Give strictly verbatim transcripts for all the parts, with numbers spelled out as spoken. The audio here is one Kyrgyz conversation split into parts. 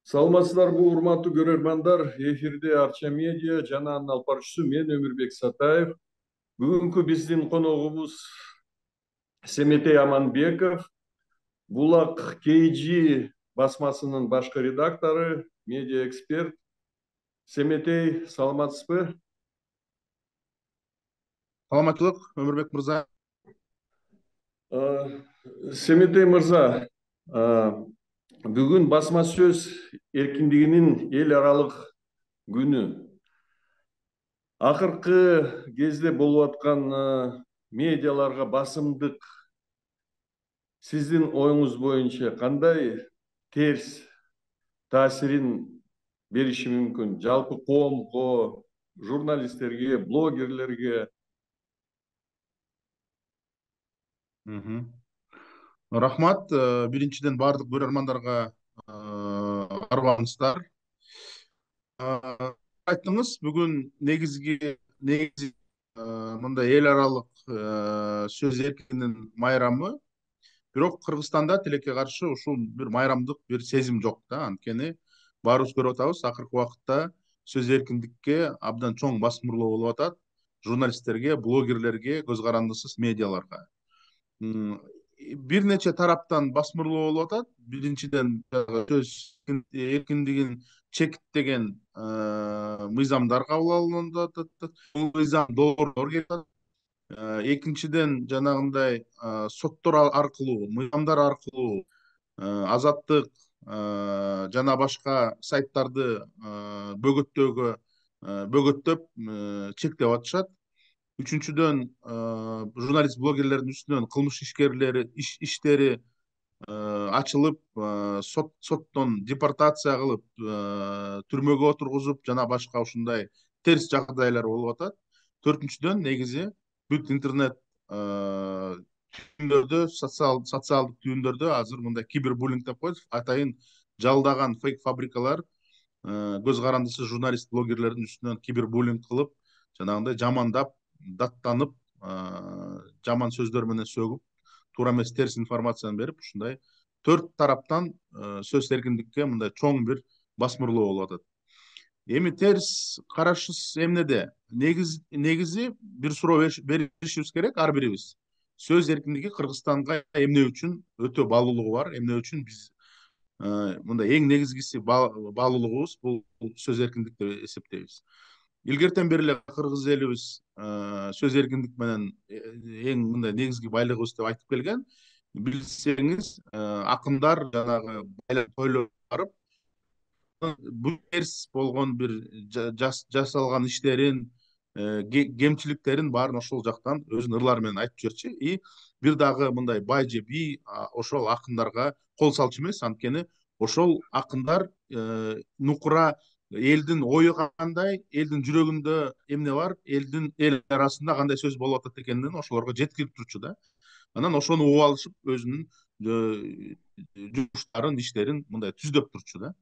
Саламатсыздарбы, урматтуу көрөрмандар. Эфирде Арча медиа жана анын алып баруучусу мен Өмүрбек Сатаев. Бүгүнкү биздин коногубуз Семетей Аманбеков, Булак кей жи басмасынын башкы редактору, медиа эксперт. Семетей, саламатсызбы? Саламаттуулук, Өмүрбек мырза. Семетей мырза, бүгүн басма сөз эркиндигинин эл аралык күнү. Акыркы кезде болуп аткан медиаларга басымдык сиздин оюңуз боюнча кандай терс таасирин бериши мүмкүн? Жалпы коомго, журналисттерге, блогерлерге. Рахмат. Биринчиден бардык көрөрмандарга арбаңыздар. Айттыңыз, бүгүн негизги негизи мындай эл аралык сөз эркиндигинин майрамы. Бирок Кыргызстанда тилекке каршы ушул бир майрамдык бир сезим жок да. Анткени баарыбыз көрүп атабыз, акыркы убакытта сөз эркиндикке абдан чоң басмырлоо болуп атат. Журналисттерге, блогерлерге, көз карандысыз медиаларга. Бир нече тараптан басмырлоо болуп атат. Биринчиден сөз эркиндигин чектеген мыйзамдар кабыл алынып атат. Бул мыйзам долбоорлор келип атат. Экинчиден жанагындай соттор аркылуу, мыйзамдар аркылуу азаттык жана башка сайттарды бөгөттөөгө бөгөттөп чектеп атышат. Үчүнчүдөн журналист блогерлердин үстүнөн кылмыш ишкерлери иштери ачылып, соттон депортация кылып, түрмөгө отургузуп жана башка ушундай терс жагдайлар болуп атат. Төртүнчүдөн негизи бүт интернет түйүндөрдө, социалдык түйүндөрдө азыр мындай кибербуллинг деп коет, атайын жалдаган фейк фабрикалар көз карандысыз журналист блогерлердин үстүнөн кибербуллинг кылып, жанагындай жамандап, даттанып, жаман сөздөр менен сөгүп, туура эмес терс информацияны берип, ушундай төрт тараптан сөз эркиндикке мындай чоң бир басмырлоо болуп атат. Эми терс карашыбыз эмнеде? Негиз негизи бир суроо беришибиз керек ар бирибиз. Сөз эркиндиги Кыргызстанга эмне үчүн өтө баалуулугу бар? Эмне үчүн биз мындай эң негизгиси баалуулугубуз бул сөз эркиндик деп эсептейбиз. Илгертен бери эле кыргыз элибиз сөз эркиндик менен эң мындай негизги байлыгыбыз деп айтып келген. Билсеңиз, акындар жанагы тойлорго барып, бул терс болгон бир жасалган иштерин, кемчиликтерин баарын ошол жактан өзүнүн ырлары менен айтып жүрчү. И бир дагы мындай бай же бий ошол акындарга кол салчу эмес, анткени ошол акындар нукура элдин ою кандай, элдин жүрөгүндө эмне бар, элдин эл арасында кандай сөз болуп атат экендигин ошолорго жеткирип турчу да. Анан ошону угуп алышып, өзүнүн жумуштарын, иштерин мындай түздөп турчу да.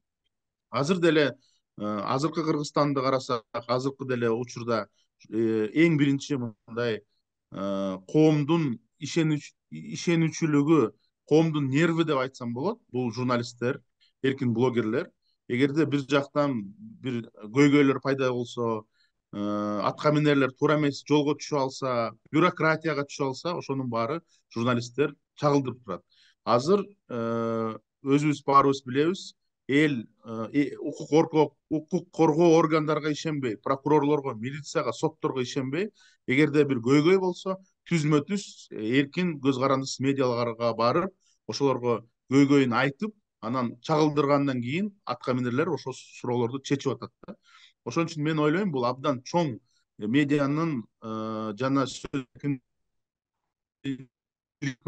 Азыр деле азыркы Кыргызстанды карасак, азыркы деле учурда эң биринчи мындай коомдун ишенүүчүлүгү, коомдун нерви деп айтсам болот, бул журналисттер, эркин блогерлер. Эгерде бир жактан бир көйгөйлөр пайда болсо, атка минерлер туура эмес жолго түшүп алса, бюрократияга түшүп алса, ошонун баары журналисттер чагылдырып турат. Азыр өзүбүз баарыбыз билебиз, эл укук коргоо органдарга ишенбей, прокурорлорго, милицияга, сотторго ишенбей, эгерде бир көйгөй болсо, түзмө түз эркин көз карандысыз медиаларга барып, ошолорго көйгөйүн айтып, анан чагылдыргандан кийин атка минерлер ошол суроолорду чечип атат да. Ошон үчүн мен ойлойм, бул абдан чоң медианын жана сөз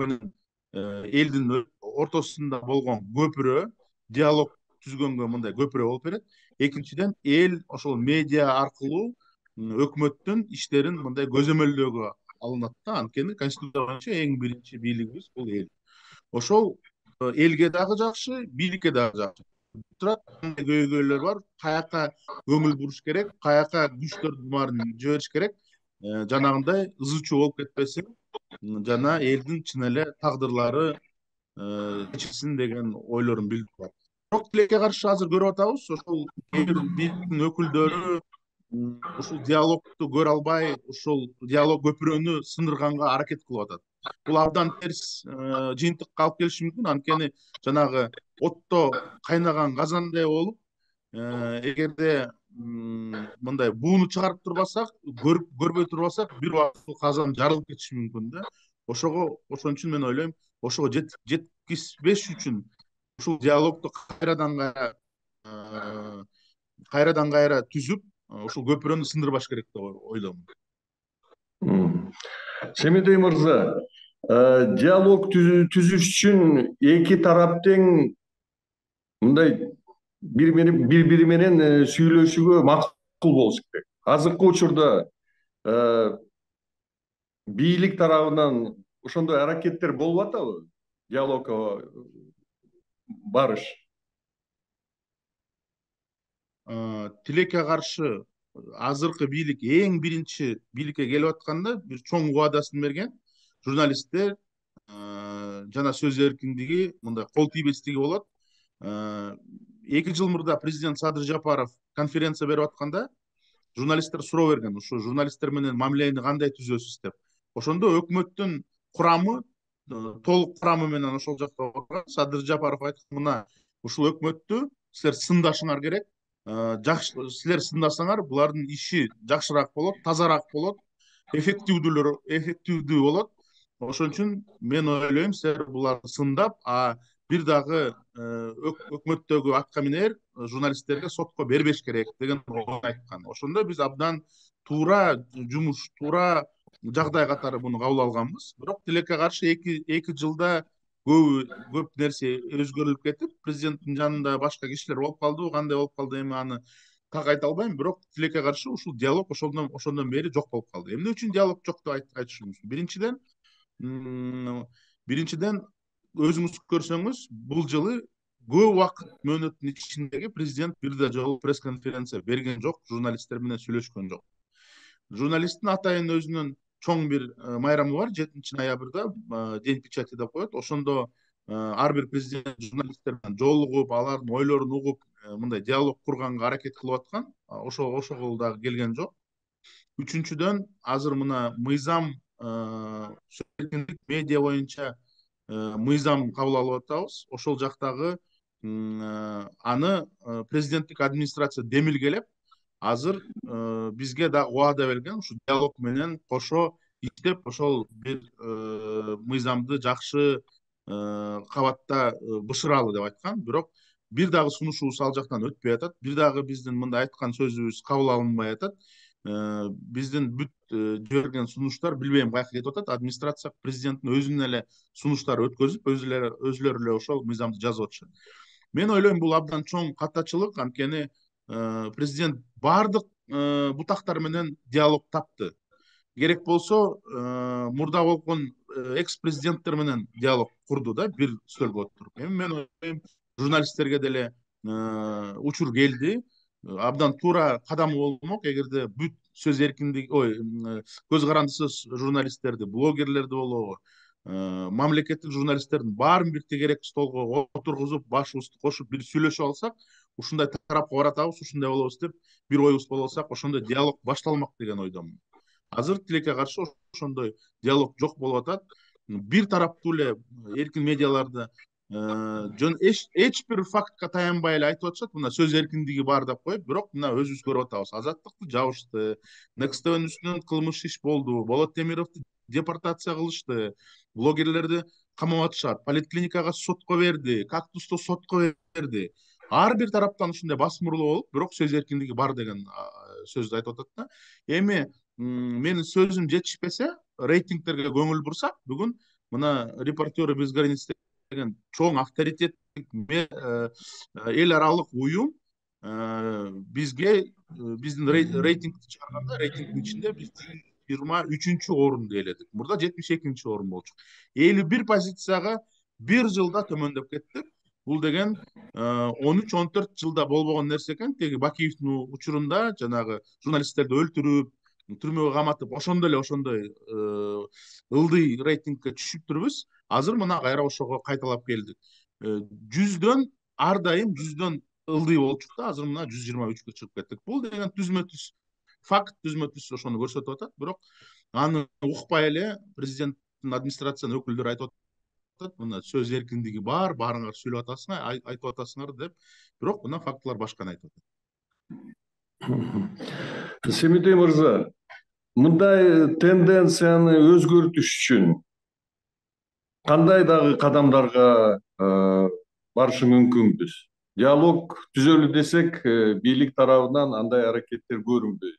менен элдин ортосунда болгон көпүрө, диалог түзгөнгө мындай көпүрө болуп берет. Экинчиден, эл ошол медиа аркылуу өкмөттүн иштерин мындай көзөмөлдөөгө алынат да. Анткени конституция боюнча эң биринчи бийлигибиз бул эл. Ошол элге дагы жакшы, бийликке дагы жакшы. Турат, кандай көйгөйлөр бар, каяка көңүл буруш керек, каяка күчтөрдүн баарын жибериш керек, жанагындай ызы чуу болуп кетпесин, жана элдин чын эле тагдырлары чечилсин деген ойлорун билдирип атат. бирок тилекке каршы азыр көрүп атабыз, ошол кээ бир бийликтин өкүлдөрү ушул диалогду көрө албай, ушул диалог көпүрөнү сындырганга аракет кылып атат. Бул абдан терс жыйынтыкка алып келиши мүмкүн. Анткени жанагы отто кайнаган казандай болуп, эгерде мындай бууну чыгарып турбасак, көрбөй турбасак, бир убакыт бул казан жарылып кетиши мүмкүн да. Ошого ошон үчүн мен ойлойм, ошого жеткизбеш үчүн ушул диалогду кайрадан кайра кайрадан кайра түзүп, ушул көпүрөнү сындырбаш керек деп ойлойм. Семидей мырза, диалог түзүш үчүн эки тарап тең мындай бири бири менен сүйлөшүүгө макул болуш керек. Азыркы учурда бийлик тарабынан ошондой аракеттер болуп атабы? Диалогго барыш. Тилекке каршы азыркы бийлик эң биринчи бийликке келип атканда бир чоң убадасын берген. Журналисттер жана сөз эркиндиги, мындай кол тийбестиги болот. эки жыл мурда президент Садыр Жапаров конференция берип атканда журналисттер суроо берген, ушу журналисттер менен мамилени кандай түзөсүз деп. Ошондо өкмөттүн курамы, толук курамы менен ошол жакта отурган Садыр Жапаров айткан, мына ушул өкмөттү силер сындашыңар керек. Жакшы, силер сындасаңар, булардын иши жакшыраак болот, тазараак болот, эффективдүүлөр эффективдүү болот. Ошон үчүн мен ойлойм, силер буларды сындап, а бир дагы өкмөттөгү атка минер журналисттерге сотко бербеш керек деген ой айткан. Ошондо биз абдан туура жумуш, туура жагдай катары муну кабыл алганбыз. Бирок тилекке каршы эки жылда көп көп нерсе өзгөрүлүп кетип, президенттин жанында башка кишилер болуп калды, кандай болуп калды эми аны так айта албайм. Бирок тилекке каршы ушул диалог ошондон ошондон бери жок болуп калды. Эмне үчүн диалог жок деп айтышым мүмкүн? Биринчиден, биринчиден өзүңүз көрсөңүз, бул жылы көп убакыт мөөнөттүн ичиндеги президент бир да жолу пресс-конференция берген жок, журналисттер менен сүйлөшкөн жок. Журналисттин атайын өзүнүн чоң бир майрамы бар, жетинчи ноябрда День печати деп коет. Ошондо ар бир президент журналистер менен жолугуп, алардын ойлорун угуп, мындай диалог курганга аракет кылып аткан. Ошо ошол дагы келген жок. Үчүнчүдөн, азыр мына мыйзам, медиа боюнча мыйзам кабыл алып атабыз. Ошол жактагы аны президенттик администрация демилгелеп, азыр бизге да убада берген, ушу диалог менен кошо иштеп, ошол бир мыйзамды жакшы кабатта бышыралы деп айткан. Бирок бир дагы сунушубуз ал жактан өтпөй атат. Бир дагы биздин мындай айткан сөзүбүз кабыл алынбай атат. Биздин бүт жиберген сунуштар билбейм каяка кетип атат. Администрация президенттин өзүнүн эле сунуштары өткөзүп, өзүлөрү өзүлөрү эле ошол мыйзамды жазып атышат. Мен ойлойм, бул абдан чоң каттачылык, анткени президент бардык бутактар менен диалог тапты. Керек болсо, мурда болгон экс-президенттер менен диалог курду да, бир стөлгө отуруп. Эми мен ойлойм, журналисттерге деле учур келди. Абдан туура кадам болмок, эгерде бүт сөз эркиндиги, ой, көз карандысыз журналисттерди, блогерлерди болобу, мамлекеттик журналисттердин баарын бир тегерек столго отургузуп, башыбызды кошуп бир сүйлөшүп алсак, ушундай тарапка баратабыз, ушундай болобуз деп бир оюбуз боло алсак, ошондой диалог башталмак деген ойдомун. Азыр тилекке каршы ошондой диалог жок болуп атат. Бир тараптуу эле эркин медиаларда жөн эч бир фактка таянбай эле айтып атышат, мына сөз эркиндиги бар деп коюп, бирок мына өзүбүз көрүп атабыз. Азаттыкты жабышты, Next тэ вэ үстүнөн кылмыш иш болду, Болот Темировду депортация кылышты, блогерлерди камап атышат, поликлиникага сотко берди, Кактусту сотко берди. Ар бир тараптан ушундай басым уруулуу болуп, бирок сөз эркиндиги бар деген сөздү айтып атат да. Эми менин сөзүм жетишпесе, рейтингтерге көңүл бурсак, бүгүн мына Репортеры без границ деген чоң авторитеттик эл аралык уюм бизге биздин рейтингди чыгарганда, рейтингдин ичинде биз жыйырма үчүнчү орунду ээледик. Мурда жетимиш экинчи орун болчу. элүү бир позицияга бир жылда төмөндөп кеттик. Бул деген он үч он төрт жылда болбогон нерсе экен. Теги Бакиевдин учурунда жанагы журналисттерди өлтүрүп, түрмөгө каматып, ошондо эле ошондой ылдый рейтингке түшүп турбуз. Азыр мына кайра ошого кайталап келдик. Жүздөн ар дайым жүздөн ылдый болчук да, азыр мына жүз жыйырма үчкө чыгып кеттик. Бул деген түзмө түз факт, түзмө түз ошону көрсөтүп атат. Бирок аны укпай эле президенттин администрациянын өкүлдөрү айтып атат, мына сөз эркиндиги бар, баарыңар сүйлөп атасыңар, айтып атасыңар деп. Бирок мына фактылар башканы айтып атат. Семидей мырза, мындай тенденцияны өзгөртүш үчүн кандай дагы кадамдарга барышы мүмкүнбүз? Диалог түзөлү десек, бийлик тарабынан андай аракеттер көрүнбөйт.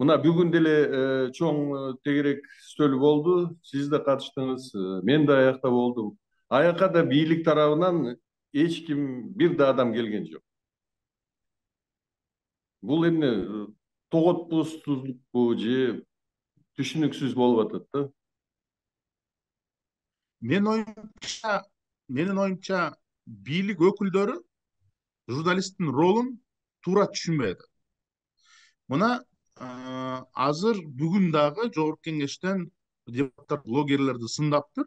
Мына бүгүн деле чоң тегерек стөл болду, сиз да катыштыңыз, мен да аякта болдум. Аякка да бийлик тарабынан эч ким, бир да адам келген жок. Бул эмне тоготпуздукпу же түшүнүксүз болуп атат да? Менин оюмча, менин оюмча бийлик өкүлдөрү журналисттин ролун туура түшүнбөй атат. Мына азыр бүгүн дагы жогорку кеңештен депутаттар блогерлерди сындаптыр,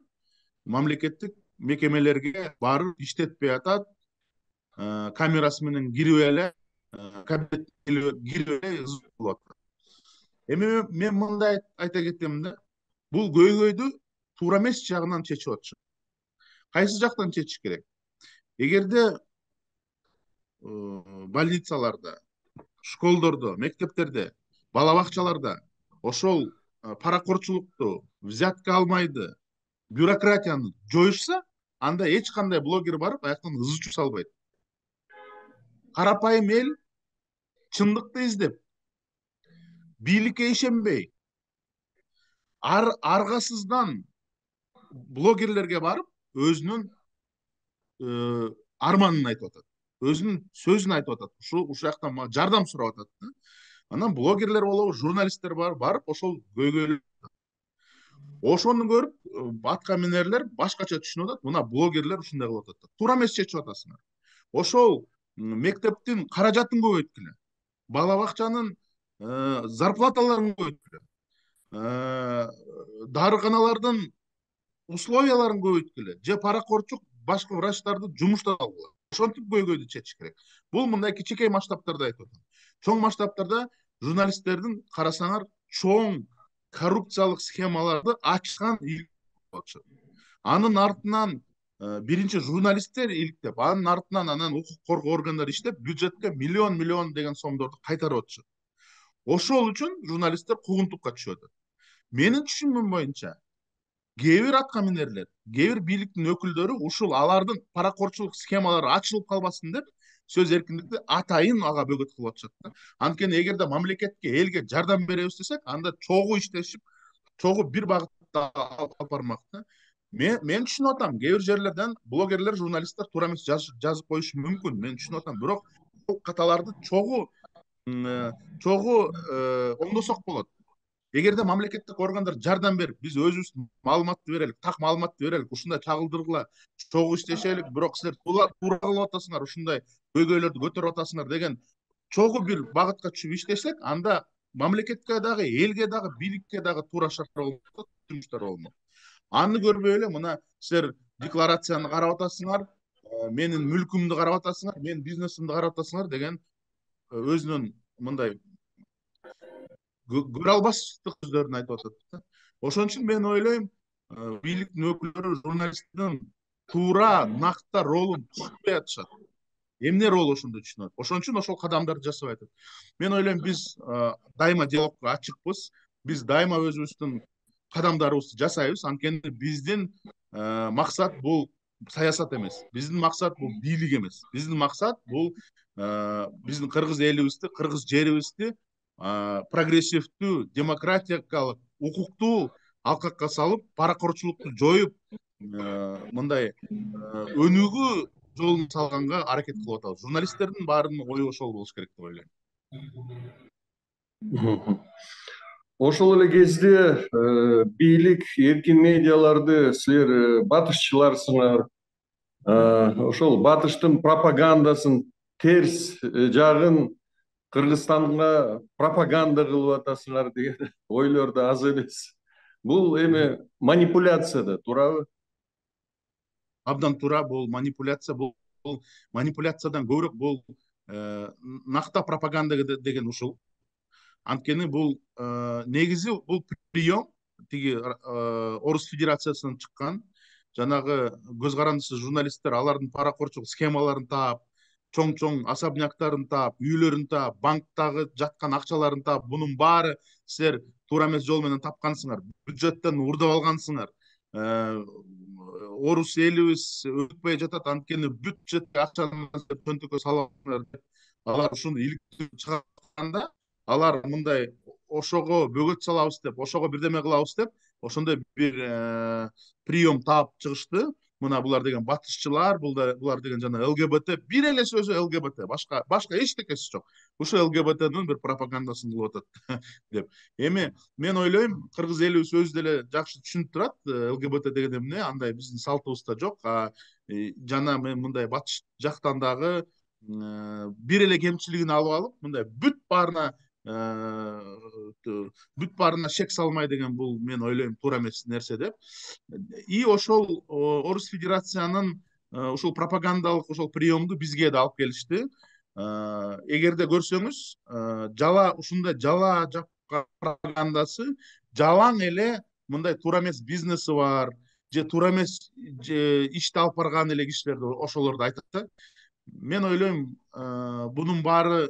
мамлекеттик мекемелерге барып иштетпей атат, камерасы менен кирип эле кабинетке кирип эле ызы болуп атат. Эми мен мындай айта кетем да, бул көйгөйдү туура эмес жагынан чечип атышат. Кайсы жактан чечиш керек? Эгерде больницаларда, школдордо, мектептерде, бала бакчаларда ошол паракорчулукту, взятка алмайды, бюрократияны жоюшса, анда эч кандай блогер барып аяктан ызы чуу салбайт. Карапайым эл чындыкты издеп, бийликке ишенбей, ар аргасыздан блогерлерге барып өзүнүн арманын айтып атат, өзүнүн сөзүн айтып атат. Ушу ушул жактан жардам сурап атат. Анан блогерлер болобу, журналисттер бар, барып ошол көйгөйлү ошону көрүп атка минерлер башкача түшүнүп атат. Мына блогерлер ушундай кылып атат. Туура эмес чечип атасыңар. Ошол мектептин каражатын көбөйткүлө, бала бакчанын зарплаталарын көбөйткүлө, дарыканалардын условияларын көбөйткүлө, же паракорчук башка врачтарды жумуштан алгыла. Ошентип көйгөйдү чечиш керек. Бул мындай кичинекей масштабтарда айтып атам. Чоң масштабтарда журналисттердин карасаңар чоң коррупциялык схемаларды ачкан болчу. Анын артынан биринчи журналисттер иликтеп, анын артынан анан укук коргоо органдары иштеп, бюджетке миллион миллион деген сомдорду кайтарып атышат. Ошол үчүн журналисттер куугунтукка түшүп атат. Менин түшүнүгүм боюнча, кээ бир атка минерлер, кээ бир бийликтин өкүлдөрү ушул алардын паракорчулук схемалары ачылып калбасын деп сөз эркиндикти атайын ага бөгөт кылып атышат да. Анткени эгерде мамлекетке, элге жардам беребиз десек, анда чогуу иштешип, чогуу бир багытта алып бармак да. Мен мен түшүнүп атам, кээ бир жерлерден блогерлер, журналисттер туура эмес жазып коюшу мүмкүн. Мен түшүнүп атам, бирок бул каталарды чогуу чогуу оңдосок болот. Эгерде мамлекеттик органдар жардам берип, биз өзүбүз маалыматты берелик, так маалыматты берелик, ушундай чагылдыргыла, чогуу иштешелик, бирок силер туура кылып атасыңар, ушундай көйгөйлөрдү көтөрүп атасыңар деген чогуу бир багытка түшүп иштесек, анда мамлекетке дагы, элге дагы, бийликке дагы туура шарттар болот, жумуштар болмок. Аны көрбөй эле мына силер декларацияны карап атасыңар, менин мүлкүмдү карап атасыңар, менин бизнесимди карап атасыңар деген өзүнүн мындай көрө албаштык сөздөрүн айтып атат. Ошон үчүн мен ойлойм, бийликтин өкүлдөрү журналисттин туура, накта ролун түшүнбөй атышат. Эмне рол ошондо түшүнөт. Ошон үчүн ошол кадамдарды жасабай атат. Мен ойлойм, биз дайыма диалогко ачыкпыз. Биз дайыма өзүбүздүн кадамдарыбызды жасайбыз. Анткени биздин максат бул саясат эмес. Биздин максат бул бийлик эмес. Биздин максат бул биздин кыргыз элибизди, кыргыз жерибизди прогрессивдүү, демократиялык, укуктуу алкакка салып, паракорчулукту жоюп, мындай өнүгүү жолун салганга аракет кылып атабыз. Журналисттердин баарынын ою ошол болуш керек деп ойлойм. Ошол эле кезде бийлик, эркин медиаларды силер батышчыларсыңар. Ошол батыштын пропагандасын, терс жагын Кыргызстанга пропаганда кылып атасыңар деген ойлор да аз эмес. Бул эми манипуляция да, туурабы? Абдан туура, бул манипуляция, бул бул манипуляциядан көбүрөөк бул накта пропаганда деген ушул. Анткени бул негизи бул прием тиги Орус Федерациясынан чыккан жанагы көз карандысыз журналисттер алардын паракорчулук схемаларын таап, чоң-чоң особняктарын таап, үйлөрүн таап, банктагы жаткан акчаларын таап, бунун баары силер туура эмес жол менен тапкансыңар, бюджеттен урдап алгансыңар. Орус элибиз өтпөй жатат, анткени бюджетке акчаны чөнтөккө саласыңар деп алар ушуну иликтөө чыгарганда, алар мындай ошого бөгөт салабыз деп, ошого бирдеме кылабыз деп, ошондой бир прием таап чыгышты. Мына булар деген батышчылар, булар деген жана ЛГБТ, бир эле сөзү ЛГБТ, башка башка эчтекеси жок. Ушу ЛГБТнын бир пропагандасын кылып атат деп. Эми мен ойлойм, кыргыз элибиз өзү деле жакшы түшүнүп турат, ЛГБТ деген эмне, андай биздин салтыбызда жок. Жана мен мындай батыш жактан дагы бир эле кемчилигин алып алып, мындай бүт баарына бүт баарына шек салмай деген бул мен ойлойм туура эмес нерсе деп. И ошол Орус Федерациянын ушул пропагандалык ошол приемду бизге да алып келишти. Эгерде көрсөңүз, жала ушундай жала жапкан пропагандасы жалаң эле мындай туура эмес бизнеси бар, же туура эмес ишти алып барган эле кишилерди ошолорду айтат. Мен ойлойм, бунун баары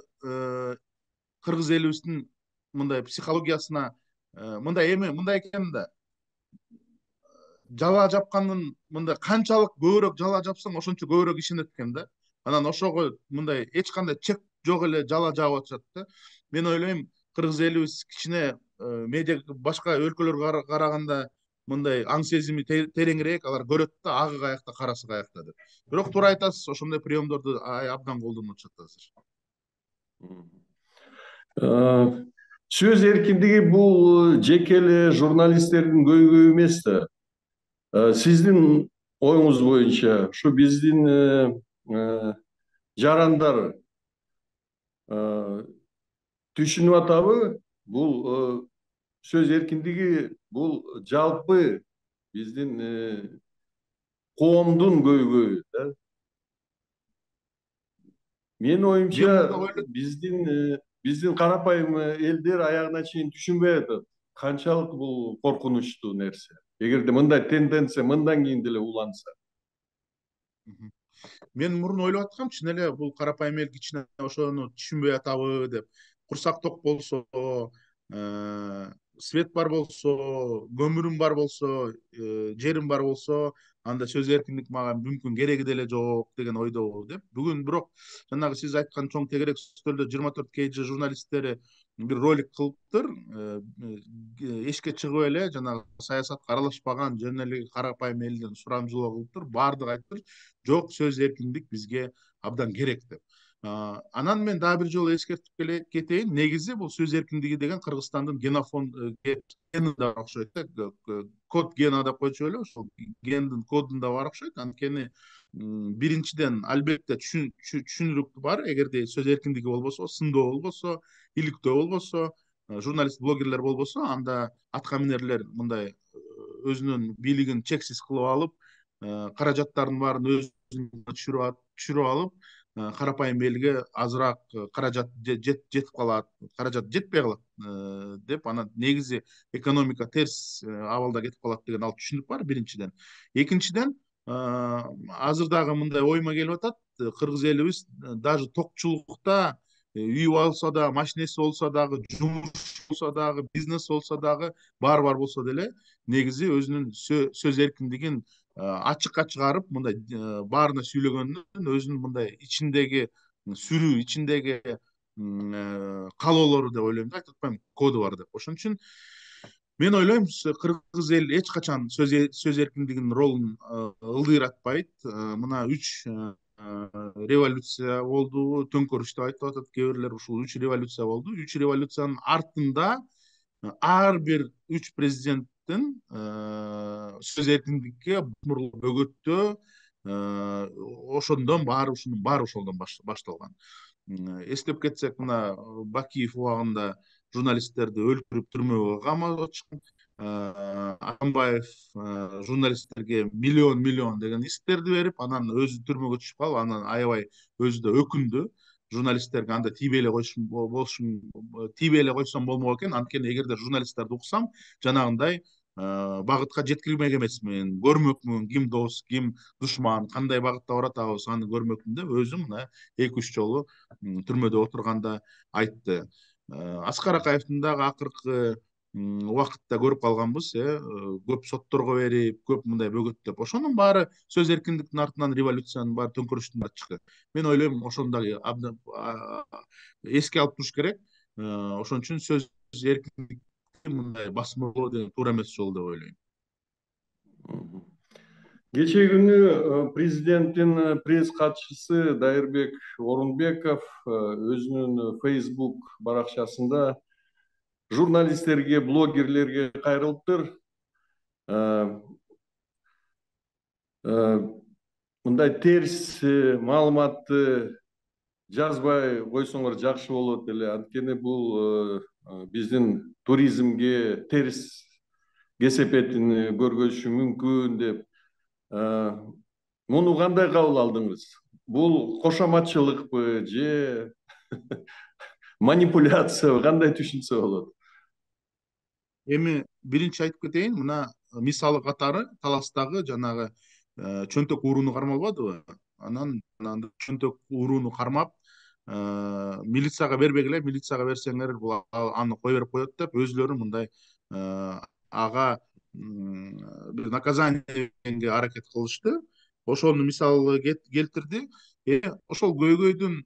кыргыз элибиздин мындай психологиясына мындай эми мындай экен да, жала жапкандын мындай канчалык көбүрөөк жала жапсаң ошончо көбүрөөк ишенет экен да. Анан ошого мындай эч кандай чек жок эле жала жаап атышат да. Мен ойлойм, кыргыз элибиз кичине медиа башка өлкөлөргө караганда мындай аң сезими тереңирээк, алар көрөт да, агы каякта, карасы каякта деп. Бирок туура айтасыз, ошондой приемдорду абдан колдонуп атышат азыр. Сөз эркиндиги бул жеке эле журналисттердин көйгөйү эмес да. Сиздин оюңуз боюнча ушу биздин жарандар түшүнүп атабы? Бул сөз эркиндиги бул жалпы биздин коомдун көйгөйү да. Менин оюмча биздин биздин карапайым элдер аягына чейин түшүнбөй атат. Канчалык бул коркунучтуу нерсе. Эгерде мындай тенденция мындан кийин деле уланса. Мен мурун ойлоп аткам, чын эле бул карапайым эл кичине ошону түшүнбөй атабы деп. Курсак ток болсо, свет бар болсо, көмүрүм бар болсо, жерим бар болсо, анда сөз эркиндик мага мүмкүн кереги деле жок деген ойдобу деп. Бүгүн бирок жанагы сиз айткан чоң тегерек стөлдө жыйырма төрт кей жи журналисттери бир ролик кылыптыр. Эшикке чыгып эле жанагы саясатка аралашпаган жөн эле карапайым элден сурамжылоо кылыптыр. Баардыгы айттыр, жок, сөз эркиндик бизге абдан керек деп. Анан мен дагы бир жолу эскертип кетейин. Негизи бул сөз эркиндиги деген Кыргызстандын генофонд генинде окшойт да. Код гена деп койчу эле, ошол гендин кодунда бар окшойт. Анткени биринчиден албетте түшүнүрүк бар. Эгерде сөз эркиндиги болбосо, сындоо болбосо, иликтөө болбосо, журналист, блогерлер болбосо, анда атка минерлер мындай өзүнүн бийлигин чексиз кылып алып, каражаттардын баарын өзүнө түшүрүп алып, карапайым элге азыраак каражат жетип калат, каражат жетпей калат деп, анан негизи экономика терс абалда кетип калат деген ал түшүнүк бар биринчиден. Экинчиден, азыр дагы мындай оюма келип атат, кыргыз элибиз даже токчулукта үй болсо да, машинеси болсо дагы, жумуш болсо дагы, бизнес болсо дагы, бар-бар болсо деле, негизи өзүнүн сөз эркиндигин ачыкка чыгарып, мындай баарына сүйлөгөндөн өзүнүн мындай ичиндеги сүрүү, ичиндеги каалоолору деп ойлойм да, айтып атпайм, коду бар деп. Ошон үчүн мен ойлойм, кыргыз эл эч качан сөз эркиндигинин ролун ылдыйратпайт. Мына үч революция болду, төңкөрүш деп айтып атат кээ бирлер, ушул үч революция болду. Үч революциянын артында ар бир үч президенттин сөз эркиндикке бөгөттөө, ошондон баары ушунун баары ошолдон башталган. Эстеп кетсек, мына Бакиев убагында журналисттерди өлтүрүп түрмөгө камап атышкан. Атамбаев журналисттерге миллион миллион деген исктерди берип, анан өзү түрмөгө түшүп калып, анан аябай өзү да өкүндү. Журналисттерге анда тийбей эле койшум болушум тийбей эле койсом болмок экен. Анткени эгерде журналисттерди уксам, жанагындай багытка жеткирмек эмесмин, көрмөкмүн, ким дос, ким душман, кандай багытта баратабыз, аны көрмөкмүн деп өзү мына эки үч жолу түрмөдө отурганда айтты. Аскар Акаевдин дагы акыркы убакытта көрүп калганбыз, э көп сотторго берип, көп мындай бөгөттөп, ошонун баары сөз эркиндиктин артынан революциянын баары төңкөрүштүн баары чыкты. Мен ойлойм, ошону дагы эске алып туруш керек. Ошон үчүн сөз эркиндикти мындай басмырлоо деген туура эмес жол деп ойлойм. Кечээ күнү президенттин пресс катчысы Дайырбек Орунбеков өзүнүн Facebook баракчасында журналисттерге, блогерлерге кайрылыптыр. Мындай терс маалыматты жазбай койсоңор жакшы болот эле. Анткени бул биздин туризмге терс кесепетин көргөзүшү мүмкүн деп. Муну кандай кабыл алдыңыз? Бул кошоматчылыкпы же манипуляциябы, кандай түшүнсө болот? Эми биринчи айтып кетейин, мына мисалы катары Таластагы жанагы чөнтөк урууну кармалбадыбы? Анан чөнтөк урууну кармап, милицияга бербегиле, милицияга берсеңер бул аны кое берип коет деп, өзүлөрү мындай ага бир наказание бергенге аракет кылышты. Ошону мисалы келтирди. Ошол көйгөйдүн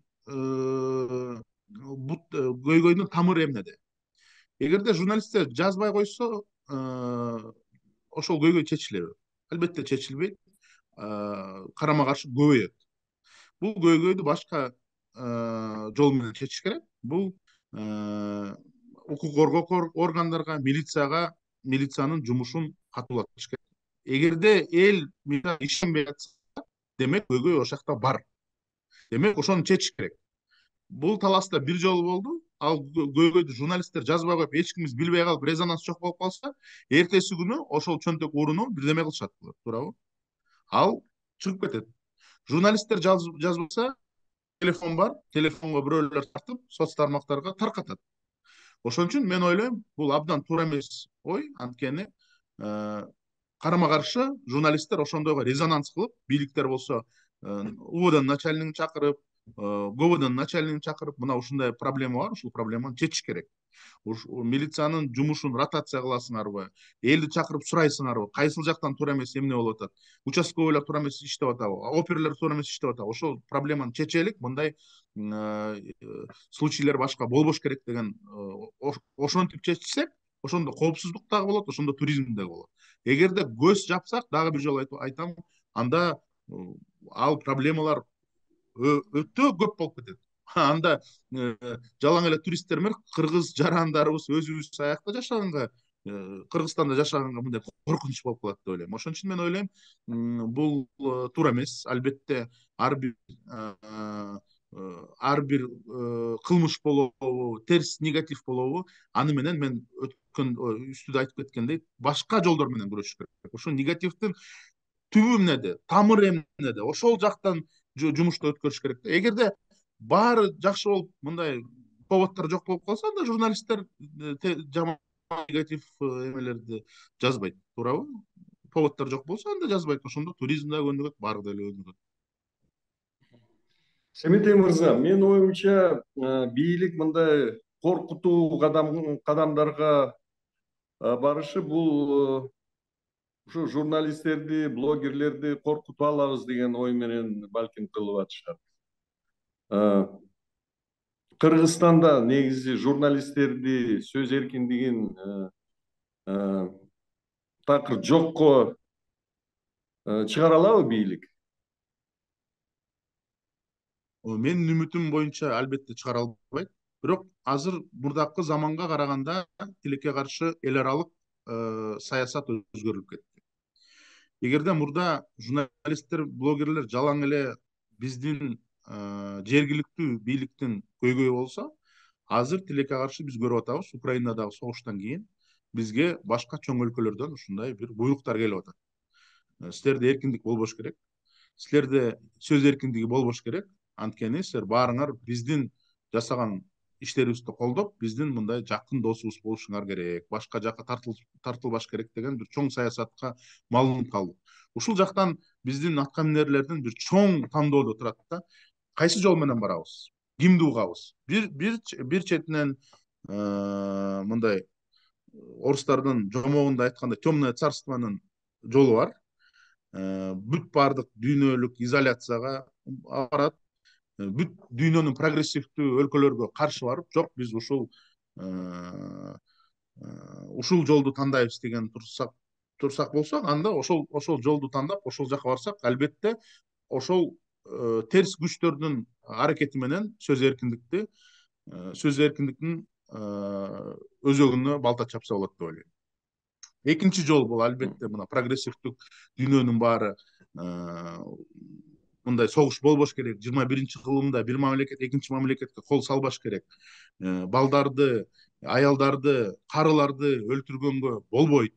көйгөйдүн тамыры эмнеде? Эгерде журналисттер жазбай койсо, ошол көйгөй чечилеби? Албетте чечилбейт. Карама каршы көбөйөт. Бул көйгөйдү башка жол менен чечиш керек. Бул укук коргоо органдарга, милицияга, милициянын жумушун катуулатыш керек. Эгерде эл ишенбей жатса, демек көйгөй ошол жакта бар. Демек ошону чечиш керек. Бул таласта бир жолу болду. Ал көйгөйдү журналисттер жазбай коюп, эч кимибиз билбей калып, резонанс жок болуп калса, эртеси күнү ошол чөнтөк урууну бирдеме кылышат болот, туурабы? Ал чыгып кетет. Журналисттер жазбаса, телефон бар, телефонго бирөөлөр тартып, соц тармактарга таркатат. Ошон үчүн мен ойлойм, бул абдан туура эмес ой. Анткени карама каршы журналисттер ошондойго резонанс кылып, бийликтер болсо УВДнын начальнигин чакырып, ГОБдун начальнигин чакырып, мына ушундай проблема бар, ушул проблеманы чечиш керек. Милициянын жумушун ротация кыласыңарбы, элди чакырып сурайсыңарбы, кайсыл жактан туура эмес эмне болуп атат, участковыйлар туура эмес иштеп атабы, оперлер туура эмес иштеп атабы, ошол проблеманы чечелик, мындай случайлар башка болбош керек деген, ошентип чечсек, ошондо коопсуздук дагы болот, ошондо туризм дагы болот. Эгерде көз жапсак, дагы бир жолу айтам, анда ал проблемалар өтө көп болуп кетет. Анда жалаң эле туристтер менен кыргыз жарандарыбыз өзүбүз аякта жашаганга, Кыргызстанда жашаганга мындай коркунуч болуп калат деп ойлойм. Ошон үчүн мен ойлойм, бул туура эмес. Албетте ар бир ар бир кылмыш болобу, терс негатив болобу, аны менен мен өткөн үстүдө айтып кеткендей, башка жолдор менен күрөшүш керек. Ошол негативдин түбү эмнеде, тамыры эмнеде, ошол жактан жумушту өткөрүш керек. Эгерде баары жакшы болуп, мындай поводдор жок болуп калса, анда журналисттер жаман негатив эмелерди жазбайт, туурабы? Поводдор жок болсо, анда жазбайт. Ошондо туризм да өнүгөт, баары деле өнүгөт. Семетей мырза, менин оюмча, бийлик мындай коркутуу кадамдарга барышы бул ушу журналисттерди, блогерлерди коркутуп алабыз деген ой менен балким кылып атышат. Кыргызстанда негизи журналисттерди, сөз эркиндигин такыр жокко чыгара алабы бийлик? Менин үмүтүм боюнча албетте чыгара албайт. Бирок азыр мурдакы заманга караганда тилекке каршы эл аралык саясат өзгөрүлүп кетти. Эгерде мурда журналисттер, блогерлер жалаң эле биздин жергиликтүү бийликтин көйгөйү болсо, азыр тилекке каршы биз көрүп атабыз, Украинадагы согуштан кийин бизге башка чоң өлкөлөрдөн ушундай бир буйруктар келип атат. Силерде эркиндик болбош керек. Силерде сөз эркиндиги болбош керек. Анткени силер баарыңар биздин жасаган иштерибизди колдоп, биздин мындай жакын досубуз болушуңар керек. Башка жакка тартылбаш керек деген бир чоң саясатка малынып калдык. Ушул жактан биздин аткаминерлердин бир чоң тандоодо турат да. Кайсы жол менен барабыз? Кимди угабыз? Бир бир бир четинен мындай орустардын жомогунда айтканда темное царствонун жолу бар. Бүт баардык дүйнөлүк изоляцияга барат. Бүт дүйнөнүн прогрессивдүү өлкөлөргө каршы барып, жок биз ушул ушул жолду тандайбыз деген турсак турсак болсок, анда ошол ошол жолду тандап, ошол жака барсак, албетте ошол терс күчтөрдүн аракети менен сөз эркиндикти сөз эркиндиктин өзөгүнө балта чапса болот деп ойлойм. Экинчи жол бул албетте мына прогрессивдүү дүйнөнүн баары мындай согуш болбош керек. жыйырма биринчи кылымда бир мамлекет экинчи мамлекетке кол салбаш керек. Балдарды, аялдарды, карыларды өлтүргөнгө болбойт.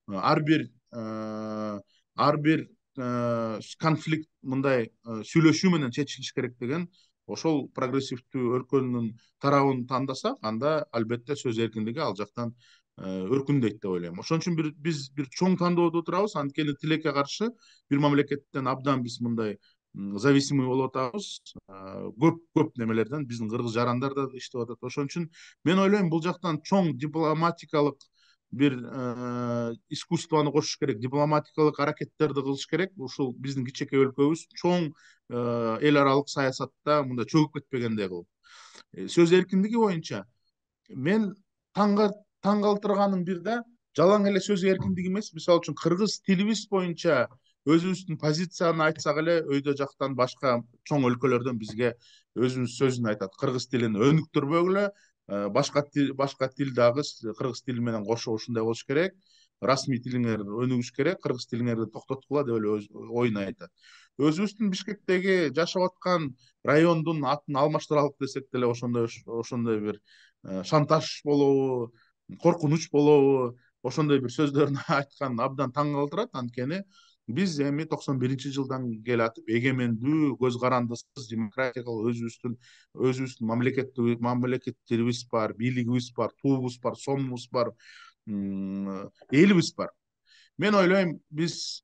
Ар бир ар бир конфликт мындай сүйлөшүү менен чечилиш керек деген ошол прогрессивдүү өлкөнүн тарабын тандасак, анда албетте сөз эркиндиги ал жактан өркүндөйт деп ойлойм. Ошон үчүн биз бир чоң тандоодо турабыз. Анткени тилекке каршы бир мамлекеттен абдан биз мындай зависимый болуп атабыз. Көп көп немелерден биздин кыргыз жарандар да иштеп атат. Ошон үчүн мен ойлойм, бул жактан чоң дипломатикалык бир искусствону кошуш керек, дипломатикалык аракеттерди кылыш керек. Ушул биздин кичинекей өлкөбүз чоң эл аралык саясатта мындай чөгүп кетпегендей кылып. Сөз эркиндиги боюнча мен таңга таң калтырганым бир да, жалаң эле сөз эркиндиги эмес, мисалы үчүн кыргыз тилибиз боюнча өзүбүздүн позицияны айтсак эле, өйдө жактан башка чоң өлкөлөрдөн бизге өзүнүн сөзүн айтат. Кыргыз тилин өнүктүрбөгүлө, башка тил башка тил дагы кыргыз тили менен кошо ушундай болуш керек, расмий тилиңер өнүгүш керек, кыргыз тилиңерди токтоткула деп эле оюн айтат. Өзүбүздүн Бишкектеги жашап аткан райондун атын алмаштыралык десек деле ошондой ошондой бир шантаж болобу, коркунуч болобу, ошондой бир сөздөрдү айткан абдан таң калтырат. Анткени биз эми токсон биринчи жылдан келатып, эгемендүү, көз карандысыз, демократиялык өзүбүздүн өзүбүздүн мамлекеттик мамлекеттирибиз бар, бийлигибиз бар, туубуз бар, сомубуз бар, элибиз бар. Мен ойлойм, биз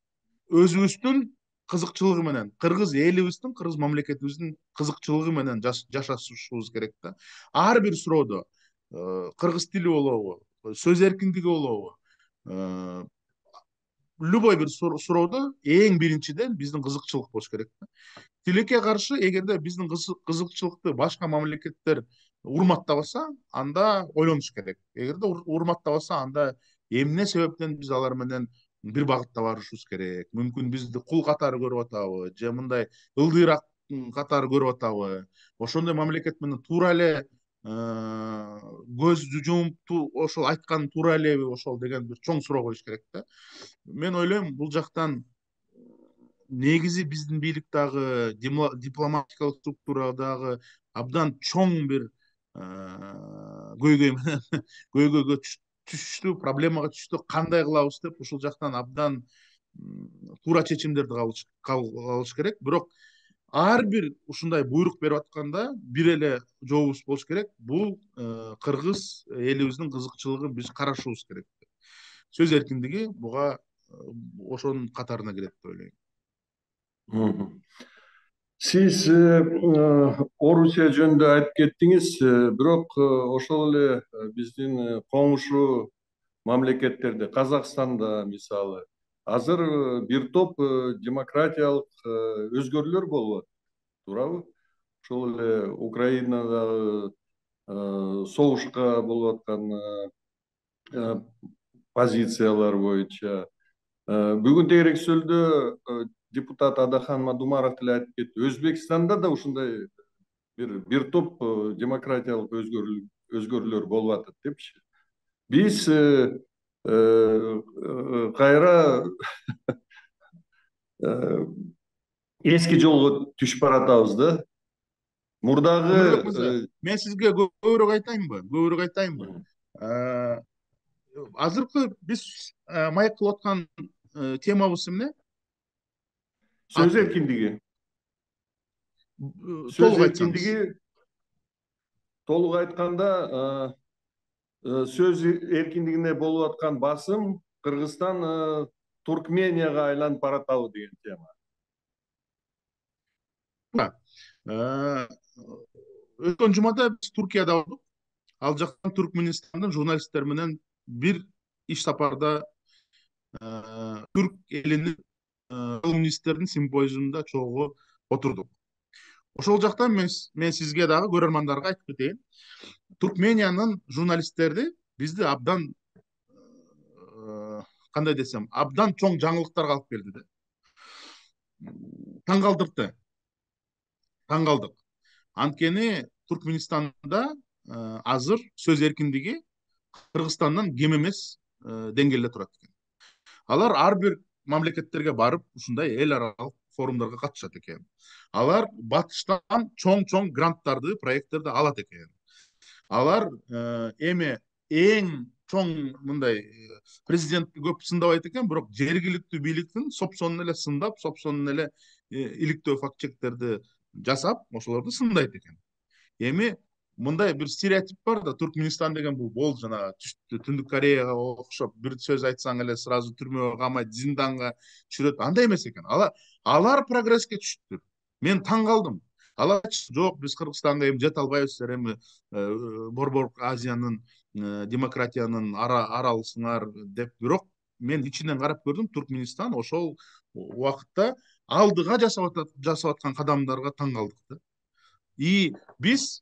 өзүбүздүн кызыкчылыгы менен, кыргыз элибиздин, кыргыз мамлекетибиздин кызыкчылыгы менен жашашыбыз керек да. Ар бир суроодо кыргыз тили болобу, сөз эркиндиги болобу, любой бир суроодо эң биринчиден биздин кызыкчылык болуш керек да. Тилекке каршы, эгерде биздин кызыкчылыкты башка мамлекеттер урматтабаса, анда ойлонуш керек. Эгерде урматтабаса, анда эмне себептен биз алар менен бир багытта барышыбыз керек? Мүмкүн бизди кул катары көрүп атабы, же мындай ылдыйраак катары көрүп атабы? Ошондой мамлекет менен туура эле көз жумуп ошол айткан туура элеби ошол деген бир чоң суроо коюш керек да. Мен ойлойм, бул жактан негизи биздин бийлик дагы, дипломатикалык структура дагы абдан чоң бир көйгөй менен көйгөйгө түштү, проблемага түштү. Кандай кылабыз деп ушул жактан абдан туура чечимдерди кабыл керек. Бирок ар бир ушундай буйрук берип атканда бир эле жообубуз болуш керек. Бул кыргыз элибиздин кызыкчылыгын биз карашыбыз керек. Сөз эркиндиги буга ошонун катарына кирет деп ойлойм. Сиз Орусия жөнүндө айтып кеттиңиз, бирок ошол эле биздин коңшу мамлекеттерде, Казакстанда мисалы, азыр бир топ демократиялык өзгөрүүлөр болуп атат, туурабы? Ошол эле Украинадагы согушка болуп аткан позициялар боюнча. Бүгүн тегерексөлдө депутат Адахан Мадумаров деле айтып кетти. Өзбекстанда да ушундай бир бир топ демократиялык өзгөрүүлөр болуп атат депчи. Биз кайра эски жолго түшүп баратабыз да. Мурдагы мен сизге көбүрөөк айтайынбы? Көбүрөөк айтайынбы? азыркы биз маек кылып аткан темабыз эмне? Сөз Аты эркиндиги. Сөз толук айтсаңыз. эркиндиги толук айтканда сөз эркиндигине болуп аткан басым Кыргызстан Туркменияга айланып баратабы деген тема. Өткөн жумада биз Туркияда болдук. Ал жактан Туркменистандын журналисттери менен бир иш сапарда түрк элинин колумнисттердин симпозиумунда чогуу отурдук. Ошол жактан мен мен сизге дагы көрөрмандарга айтып кетейин. Туркмениянын журналисттери бизди абдан кандай десем, абдан чоң жаңылыктарга алып келди да. Таң калтырды. Таң калдык. Анткени Туркменистанда азыр сөз эркиндиги Кыргызстандан кем эмес деңгээлде турат экен. Алар ар бир мамлекеттерге барып, ушундай эл аралык форумдарга катышат экен. Алар батыштан чоң-чоң гранттарды, проекттерди алат экен. Алар эми эң чоң мындай президентти көп сындабайт экен, бирок жергиликтүү бийликтин сопсонун эле сындап, сопсонун эле иликтөө факт чектерди жасап, ошолорду сындайт экен. Эми мындай бир стереотип бар да, Туркменистан деген бул бол жана Түндүк Кореяга окшоп, бир сөз айтсаң эле сразу түрмөгө камайт, зинданга түшүрөт. Андай эмес экен. Алар алар прогресске түшүптүр. Мен таң калдым. Алар жок, биз Кыргызстанга эми жете албайбыз, силер эми Борбор Азиянын демократиянын аралысыңар деп, бирок мен ичинен карап көрдүм, Туркменистан ошол убакытта алдыга жасап аткан кадамдарга таң калдык да. И биз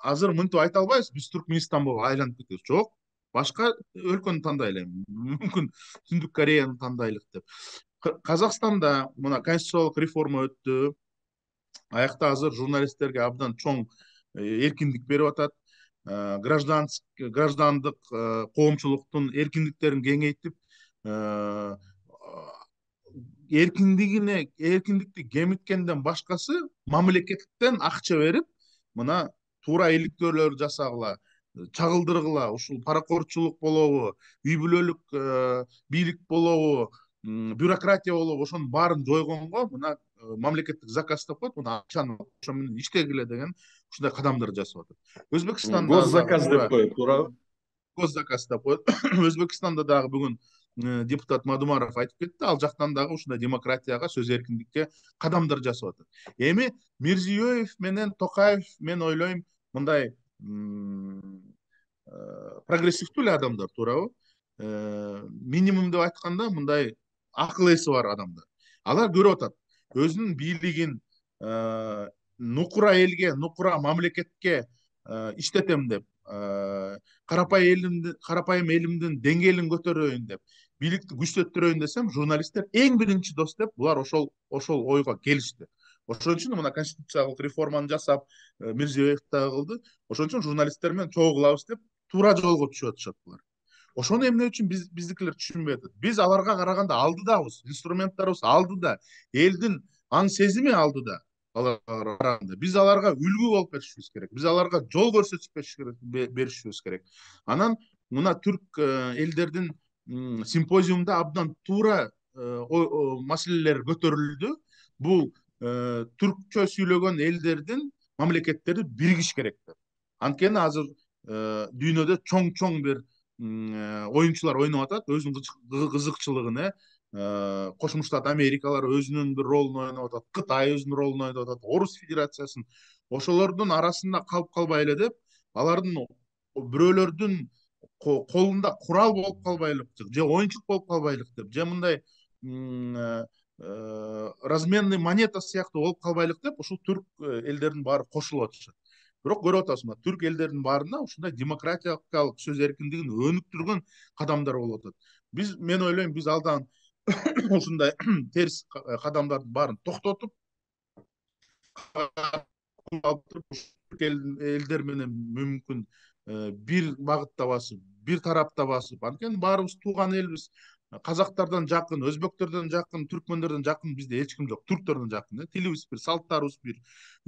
азыр мынтип айта албайбыз, биз Туркменистан болуп айланып кетебиз. Жок, башка өлкөнү тандайлы, мүмкүн Түндүк Кореяны тандайлык деп. Казакстанда мына конституциялык реформа өттү. Аякта азыр журналисттерге абдан чоң эркиндик берип атат. Граждандык коомчулуктун эркиндиктерин кеңейтип, эркиндигине эркиндикти кемиткенден башкасы мамлекеттен акча берип, мына туура иликтөөлөр жасагыла, чагылдыргыла, ушул паракорчулук болобу, үй бүлөлүк бийлик болобу, бюрократия болобу, ошонун баарын жойгонго мына мамлекеттик заказ деп коет, мына акчаны ошо менен иштегиле деген ушундай кадамдар жасап атат. Өзбекстанда госзаказ деп коет, туурабы? Госзаказ деп коет. Өзбекстанда дагы бүгүн депутат Мадумаров айтып кетти, ал жактан дагы ушундай демократияга, сөз эркиндикке кадамдар жасап атат. Эми Мирзиёев менен Токаев, мен ойлойм, мындай прогрессивдүү эле адамдар, туурабы? Минимум деп айтканда, мындай акыл эси бар адамдар. Алар көрүп атат, өзүнүн бийлигин нукура элге, нукура мамлекетке иштетем деп, карапайым элимдин деңгээлин көтөрөйүн деп, бийликти күчтөттүрөйүн десем, журналисттер эң биринчи дос деп, булар ошол ошол ойго келишти. Ошон үчүн мына конституциялык реформаны жасап, Мирзиёев дагы кылды. Ошон үчүн журналисттер менен чогуу кылабыз деп, туура жолго түшүп атышат булар. Ошону эмне үчүн биз биздикилер түшүнбөй атат? Биз аларга караганда алдыдабыз, инструменттерибиз алдыда, элдин аң сезими алдыда. Биз аларга үлгү болуп беришибиз керек. Биз аларга жол көрсөтүп беришибиз керек. Анан мына түрк элдердин симпозиумда абдан туура маселелер көтөрүлдү. Бул түркчө сүйлөгөн элдердин мамлекеттери биригиш керек деп. Анткени азыр дүйнөдө чоң-чоң бир оюнчулар ойноп атат, өзүнүн кызыкчылыгын, Кошмо Штат Америкалар өзүнүн бир ролун ойноп атат, Кытай өзүнүн ролун ойноп атат, Орус Федерациясын. Ошолордун арасында калып калбайлы деп, алардын бирөөлөрдүн колунда курал болуп калбайлык, же оюнчук болуп калбайлык деп, же мындай разменный монета сыяктуу болуп калбайлык деп, ушул түрк элдердин баары кошулуп атышат. Бирок көрүп атасыз, түрк элдеринин баарына ушундай демократиялык сөз эркиндигин өнүктүргөн кадамдар болуп атат. Биз, мен ойлойм, биз алдан ушундай терс кадамдардын баарын токтотуп, элдер менен мүмкүн бир багытта басып, бир тарапта басып, анткени баарыбыз тууган элбиз, казактардан жакын, өзбектерден жакын, түркмөндөрдөн жакын бизде эч ким жок. Түрктөрдөн жакын. Тилибиз бир, салттарыбыз бир,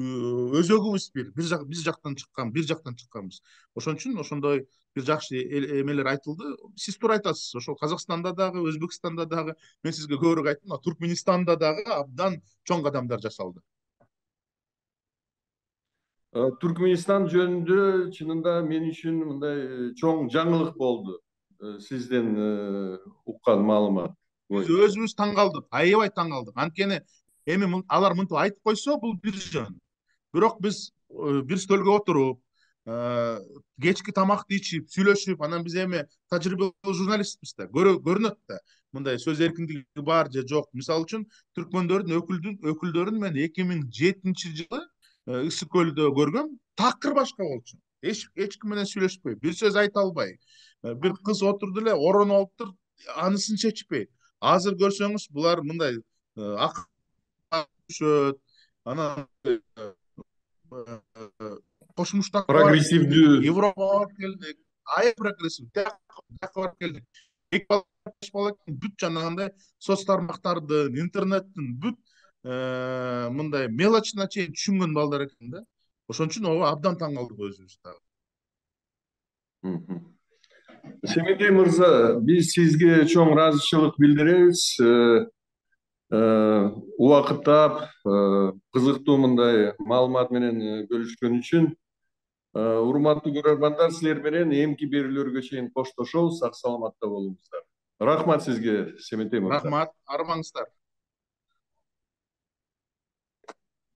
өзөгүбүз бир. Бир жак биз жактан чыккан, бир жактан чыкканбыз. Ошон үчүн ошондой бир жакшы эмелер айтылды. Сиз туура айтасыз. Ошол Казакстанда дагы, Өзбекстанда дагы, мен сизге көбүрөөк айттым, Туркменистанда дагы абдан чоң кадамдар жасалды. Түркменистан жөнүндө чынында мен үчүн мындай чоң жаңылык болду. Сизден уккан маалымат. Биз өзүбүз таң калдык, аябай таң калдык. Анткени эми алар мынтип айтып койсо, бул бир жөн. Бирок биз бир стөлгө отуруп, кечки тамакты ичип, сүйлөшүп, анан биз эми тажрыйбалуу журналистпиз да, көрүнөт да. Мындай сөз эркиндиги бар же жок. Мисалы үчүн Түркмөндөрдүн өкүлдөрүн мен эки миң жетинчи жылы Ысык көлдө көргөм. Такыр башка болчу. Эч эч ким менен сүйлөшпөй, бир сөз айта албай. Бир кыз отурду эле, ороонуп алыптыр, анысын чечпей. Азыр көрсөңүз, булар мындай акышөт, анан кошмуштан прогрессивдүү, Европага келдик, аябай прогрессив, тияка барып келдик. Эки бала, беш бала бүт жанагындай соц тармактардын, интернеттин бүт мындай мелочуна чейин түшүнгөн балдар экен да. Ошон үчүн ого абдан таң калдык өзүбүз дагы. Семетей мырза, биз сизге чоң ыраазычылык билдиребиз. Убакыт таап, кызыктуу мындай маалымат менен бөлүшкөн үчүн. Урматтуу көрөрмандар, силер менен эмки берүүлөргө чейин коштошобуз. Сак саламатта болуңуздар. Рахмат сизге, Семетей мырза. Рахмат, армаңыздар.